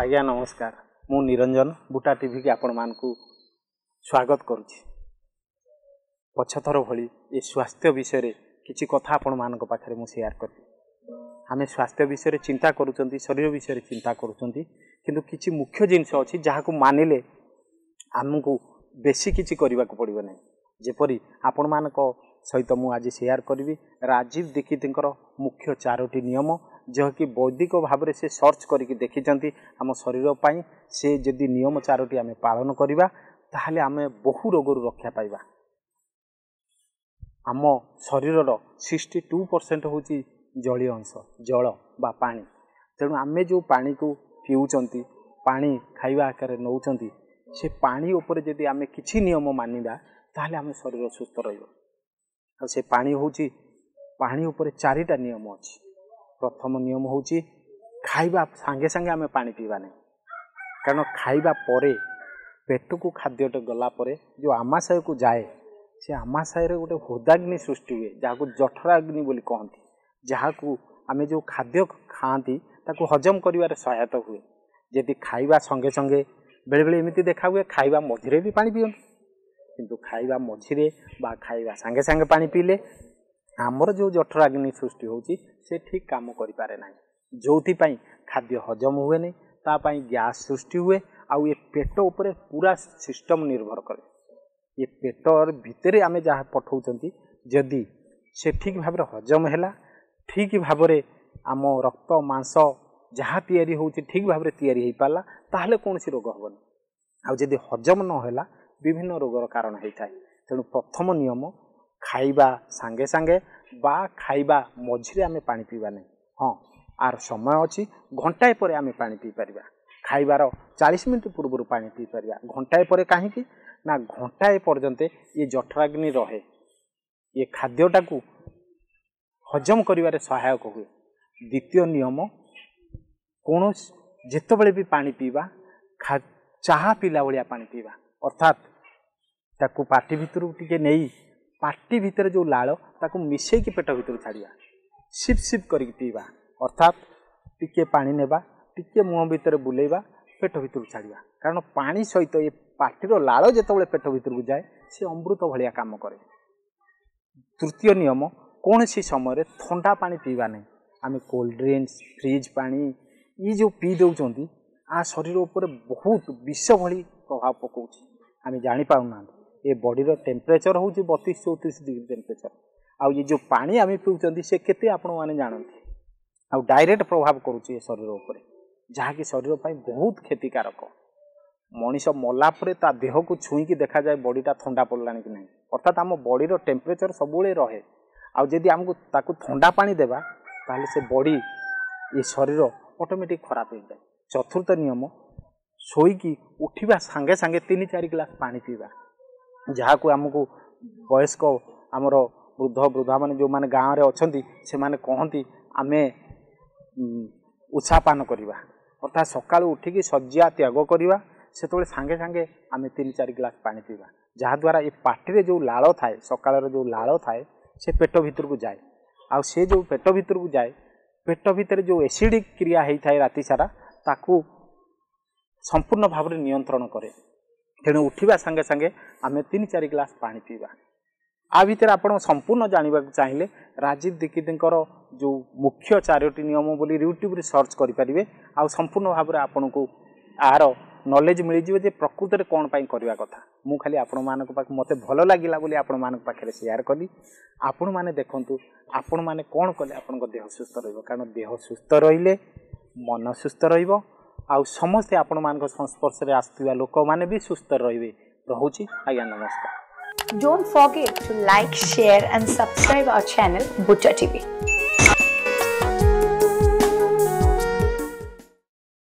ଆଜ୍ଞା ନମସ୍କାର, ମୁଁ ନିରଞ୍ଜନ, ବୁଟା ଟିଭିକି ଆପଣମାନଙ୍କୁ ସ୍ୱାଗତ କରୁଛି। ପଛଥର ଭଳି ଏ ସ୍ୱାସ୍ଥ୍ୟ ବିଷୟରେ କିଛି କଥା ଆପଣମାନଙ୍କ ପାଖରେ ମୁଁ ସେୟାର କରିବି। ଆମେ ସ୍ୱାସ୍ଥ୍ୟ ବିଷୟରେ ଚିନ୍ତା କରୁଛନ୍ତି, ଶରୀର ବିଷୟରେ ଚିନ୍ତା କରୁଛନ୍ତି, କିନ୍ତୁ କିଛି ମୁଖ୍ୟ ଜିନିଷ ଅଛି ଯାହାକୁ ମାନିଲେ ଆମକୁ ବେଶୀ କିଛି କରିବାକୁ ପଡ଼ିବ ନାହିଁ। ଯେପରି ଆପଣମାନଙ୍କ ସହିତ ମୁଁ ଆଜି ସେୟାର କରିବି ରାଜୀବ ଦୀକ୍ଷିତଙ୍କର ମୁଖ୍ୟ 4ଟି ନିୟମ, ଯାହାକି ବୈଦିକ ଭାବରେ ସେ ସର୍ଚ୍ଚ କରିକି ଦେଖିଛନ୍ତି ଆମ ଶରୀର ପାଇଁ। ସେ ଯଦି ନିୟମ 4ଟି ଆମେ ପାଳନ କରିବା ତାହେଲେ ଆମେ ବହୁ ରୋଗରୁ ରକ୍ଷା ପାଇବା। ଆମ ଶରୀରର 62% ହେଉଛି ଜଳୀୟ ଅଂଶ, ଜଳ ବା ପାଣି। ତେଣୁ ଆମେ ଯେଉଁ ପାଣିକୁ ପିଉଛନ୍ତି, ପାଣି ଖାଇବା ଆକାରରେ ନେଉଛନ୍ତି, ସେ ପାଣି ଉପରେ ଯଦି ଆମେ କିଛି ନିୟମ ମାନିବା ତାହେଲେ ଆମ ଶରୀର ସୁସ୍ଥ ରହିବ। ଆଉ ସେ ପାଣି ହେଉଛି, ପାଣି ଉପରେ 4ଟା ନିୟମ ଅଛି। ପ୍ରଥମ ନିୟମ ହେଉଛି ଖାଇବା ସାଙ୍ଗେ ସାଙ୍ଗେ ଆମେ ପାଣି ପିଇବା ନାହିଁ, କାରଣ ଖାଇବା ପରେ ପେଟକୁ ଖାଦ୍ୟଟା ଗଲା ପରେ ଯେଉଁ ଆମାଶୟକୁ ଯାଏ, ସେ ଆମାଶୟରେ ଗୋଟେ ହୃଦାଗ୍ନି ସୃଷ୍ଟି ହୁଏ, ଯାହାକୁ ଜଠରାଗ୍ନି ବୋଲି କହନ୍ତି, ଯାହାକୁ ଆମେ ଯେଉଁ ଖାଦ୍ୟ ଖାଆନ୍ତି ତାକୁ ହଜମ କରିବାରେ ସହାୟତା ହୁଏ। ଯଦି ଖାଇବା ସଙ୍ଗେ ସଙ୍ଗେ, ବେଳେବେଳେ ଏମିତି ଦେଖା ହୁଏ ଖାଇବା ମଝିରେ ବି ପାଣି ପିଅନ୍ତି, କିନ୍ତୁ ଖାଇବା ମଝିରେ ବା ଖାଇବା ସାଙ୍ଗେ ସାଙ୍ଗେ ପାଣି ପିଇଲେ ଆମର ଯେଉଁ ଜଠରାଗ୍ନି ସୃଷ୍ଟି ହେଉଛି ସେ ଠିକ୍ କାମ କରିପାରେ ନାହିଁ, ଯେଉଁଥିପାଇଁ ଖାଦ୍ୟ ହଜମ ହୁଏନି, ତା ପାଇଁ ଗ୍ୟାସ୍ ସୃଷ୍ଟି ହୁଏ। ଆଉ ଏ ପେଟ ଉପରେ ପୁରା ସିଷ୍ଟମ୍ ନିର୍ଭର କରେ। ଏ ପେଟ ଭିତରେ ଆମେ ଯାହା ପଠାଉଛନ୍ତି, ଯଦି ସେ ଠିକ୍ ଭାବରେ ହଜମ ହେଲା, ଠିକ୍ ଭାବରେ ଆମ ରକ୍ତ ମାଂସ ଯାହା ତିଆରି ହେଉଛି ଠିକ୍ ଭାବରେ ତିଆରି ହେଇପାରିଲା, ତାହେଲେ କୌଣସି ରୋଗ ହେବନି। ଆଉ ଯଦି ହଜମ ନହେଲା ବିଭିନ୍ନ ରୋଗର କାରଣ ହେଇଥାଏ। ତେଣୁ ପ୍ରଥମ ନିୟମ, ଖାଇବା ସାଙ୍ଗେ ସାଙ୍ଗେ ବା ଖାଇବା ମଝିରେ ଆମେ ପାଣି ପିଇବା ନାହିଁ। ହଁ, ଆର ସମୟ ଅଛି, ଘଣ୍ଟାଏ ପରେ ଆମେ ପାଣି ପିଇପାରିବା। ଖାଇବାର 40 ମିନିଟ୍ ପୂର୍ବରୁ ପାଣି ପିଇପାରିବା। ଘଣ୍ଟାଏ ପରେ କାହିଁକି ନା ଘଣ୍ଟାଏ ପର୍ଯ୍ୟନ୍ତ ଇଏ ଜଠରାଗ୍ନି ରହେ, ଇଏ ଖାଦ୍ୟଟାକୁ ହଜମ କରିବାରେ ସହାୟକ ହୁଏ। ଦ୍ୱିତୀୟ ନିୟମ, କୌଣସି ଯେତେବେଳେ ବି ପାଣି ପିଇବା ଚାହା ପିଇଲା ଭଳିଆ ପାଣି ପିଇବା, ଅର୍ଥାତ୍ ତାକୁ ପାଟି ଭିତରକୁ ଟିକେ ନେଇ ପାଟି ଭିତରେ ଯେଉଁ ଲାଳ ତାକୁ ମିଶେଇକି ପେଟ ଭିତରୁ ଛାଡ଼ିବା, ସିପ୍ ସିପ୍ କରିକି ପିଇବା, ଅର୍ଥାତ୍ ଟିକେ ପାଣି ନେବା, ଟିକେ ମୁହଁ ଭିତରେ ବୁଲେଇବା, ପେଟ ଭିତରକୁ ଛାଡ଼ିବା। କାରଣ ପାଣି ସହିତ ଏ ପାଟିର ଲାଳ ଯେତେବେଳେ ପେଟ ଭିତରକୁ ଯାଏ ସେ ଅମୃତ ଭଳିଆ କାମ କରେ। ତୃତୀୟ ନିୟମ, କୌଣସି ସମୟରେ ଥଣ୍ଡା ପାଣି ପିଇବା ନାହିଁ। ଆମେ କୋଲ୍ଡ ଡ୍ରିଙ୍କସ୍, ଫ୍ରିଜ୍ ପାଣି ଇଏ ଯେଉଁ ପିଇ ଦେଉଛନ୍ତି, ଆ ଶରୀର ଉପରେ ବହୁତ ବିଷ ଭଳି ପ୍ରଭାବ ପକାଉଛି, ଆମେ ଜାଣିପାରୁନାହାନ୍ତି। ଏ ବଡ଼ିର ଟେମ୍ପରେଚର୍ ହେଉଛି 32-34 ଡିଗ୍ରୀ ଟେମ୍ପରେଚର୍, ଆଉ ଏ ଯେଉଁ ପାଣି ଆମେ ପିଉଛନ୍ତି ସେ କେତେ ଆପଣମାନେ ଜାଣନ୍ତି, ଆଉ ଡାଇରେକ୍ଟ ପ୍ରଭାବ କରୁଛି ଏ ଶରୀର ଉପରେ, ଯାହାକି ଶରୀର ପାଇଁ ବହୁତ କ୍ଷତିକାରକ। ମଣିଷ ମଲା ପରେ ତା ଦେହକୁ ଛୁଇଁକି ଦେଖାଯାଏ ବଡ଼ିଟା ଥଣ୍ଡା ପଡ଼ିଲାଣି କି ନାହିଁ, ଅର୍ଥାତ୍ ଆମ ବଡ଼ିର ଟେମ୍ପରେଚର୍ ସବୁବେଳେ ରହେ। ଆଉ ଯଦି ଆମକୁ ତାକୁ ଥଣ୍ଡା ପାଣି ଦେବା ତାହେଲେ ସେ ବଡ଼ି, ଏ ଶରୀର ଅଟୋମେଟିକ୍ ଖରାପ ହେଇଯାଏ। ଚତୁର୍ଥ ନିୟମ, ଶୋଇକି ଉଠିବା ସାଙ୍ଗେ ସାଙ୍ଗେ 3-4 ଗ୍ଲାସ୍ ପାଣି ପିଇବା, ଯାହାକୁ ଆମକୁ ବୟସ୍କ ଆମର ବୃଦ୍ଧ ବୃଦ୍ଧାମାନେ ଯେଉଁମାନେ ଗାଁରେ ଅଛନ୍ତି ସେମାନେ କହନ୍ତି ଆମେ ଉଷାପାନ କରିବା, ଅର୍ଥାତ୍ ସକାଳୁ ଉଠିକି ଶଯ୍ୟା ତ୍ୟାଗ କରିବା, ସେତେବେଳେ ସାଙ୍ଗେ ସାଙ୍ଗେ ଆମେ 3-4 ଗ୍ଲାସ୍ ପାଣି ପିଇବା, ଯାହାଦ୍ୱାରା ଏ ପାଟିରେ ଯେଉଁ ଲାଳ ଥାଏ, ସକାଳର ଯେଉଁ ଲାଳ ଥାଏ ସେ ପେଟ ଭିତରକୁ ଯାଏ। ଆଉ ସେ ଯେଉଁ ପେଟ ଭିତରକୁ ଯାଏ, ପେଟ ଭିତରେ ଯେଉଁ ଏସିଡ଼ିକ୍ କ୍ରିୟା ହେଇଥାଏ ରାତି ସାରା, ତାକୁ ସମ୍ପୂର୍ଣ୍ଣ ଭାବରେ ନିୟନ୍ତ୍ରଣ କରେ। ତେଣୁ ଉଠିବା ସାଙ୍ଗେ ସାଙ୍ଗେ ଆମେ 3-4 ଗ୍ଲାସ୍ ପାଣି ପିଇବା। ଆ ଭିତରେ ଆପଣ ସମ୍ପୂର୍ଣ୍ଣ ଜାଣିବାକୁ ଚାହିଁଲେ ରାଜୀବ ଦୀକ୍ଷିତଙ୍କର ଯେଉଁ ମୁଖ୍ୟ 4ଟି ନିୟମ ବୋଲି ୟୁଟ୍ୟୁବରେ ସର୍ଚ୍ଚ କରିପାରିବେ, ଆଉ ସମ୍ପୂର୍ଣ୍ଣ ଭାବରେ ଆପଣଙ୍କୁ ଆର ନଲେଜ ମିଳିଯିବ ଯେ ପ୍ରକୃତରେ କ'ଣ ପାଇଁ କରିବା କଥା। ମୁଁ ଖାଲି ଆପଣମାନଙ୍କ ପାଖ ମୋତେ ଭଲ ଲାଗିଲା ବୋଲି ଆପଣମାନଙ୍କ ପାଖରେ ସେୟାର କଲି। ଆପଣମାନେ ଦେଖନ୍ତୁ ଆପଣମାନେ କ'ଣ କଲେ ଆପଣଙ୍କ ଦେହ ସୁସ୍ଥ ରହିବ, କାରଣ ଦେହ ସୁସ୍ଥ ରହିଲେ ମନ ସୁସ୍ଥ ରହିବ, ଆଉ ସମସ୍ତେ ଆପଣମାନଙ୍କ ସଂସ୍ପର୍ଶରେ ଆସୁଥିବା ଲୋକମାନେ ବି ସୁସ୍ଥ ରହିବେ। ରହୁଛି ଆଜ୍ଞା, ନମସ୍କାର। Don't forget to like, share and subscribe our channel Buta TV.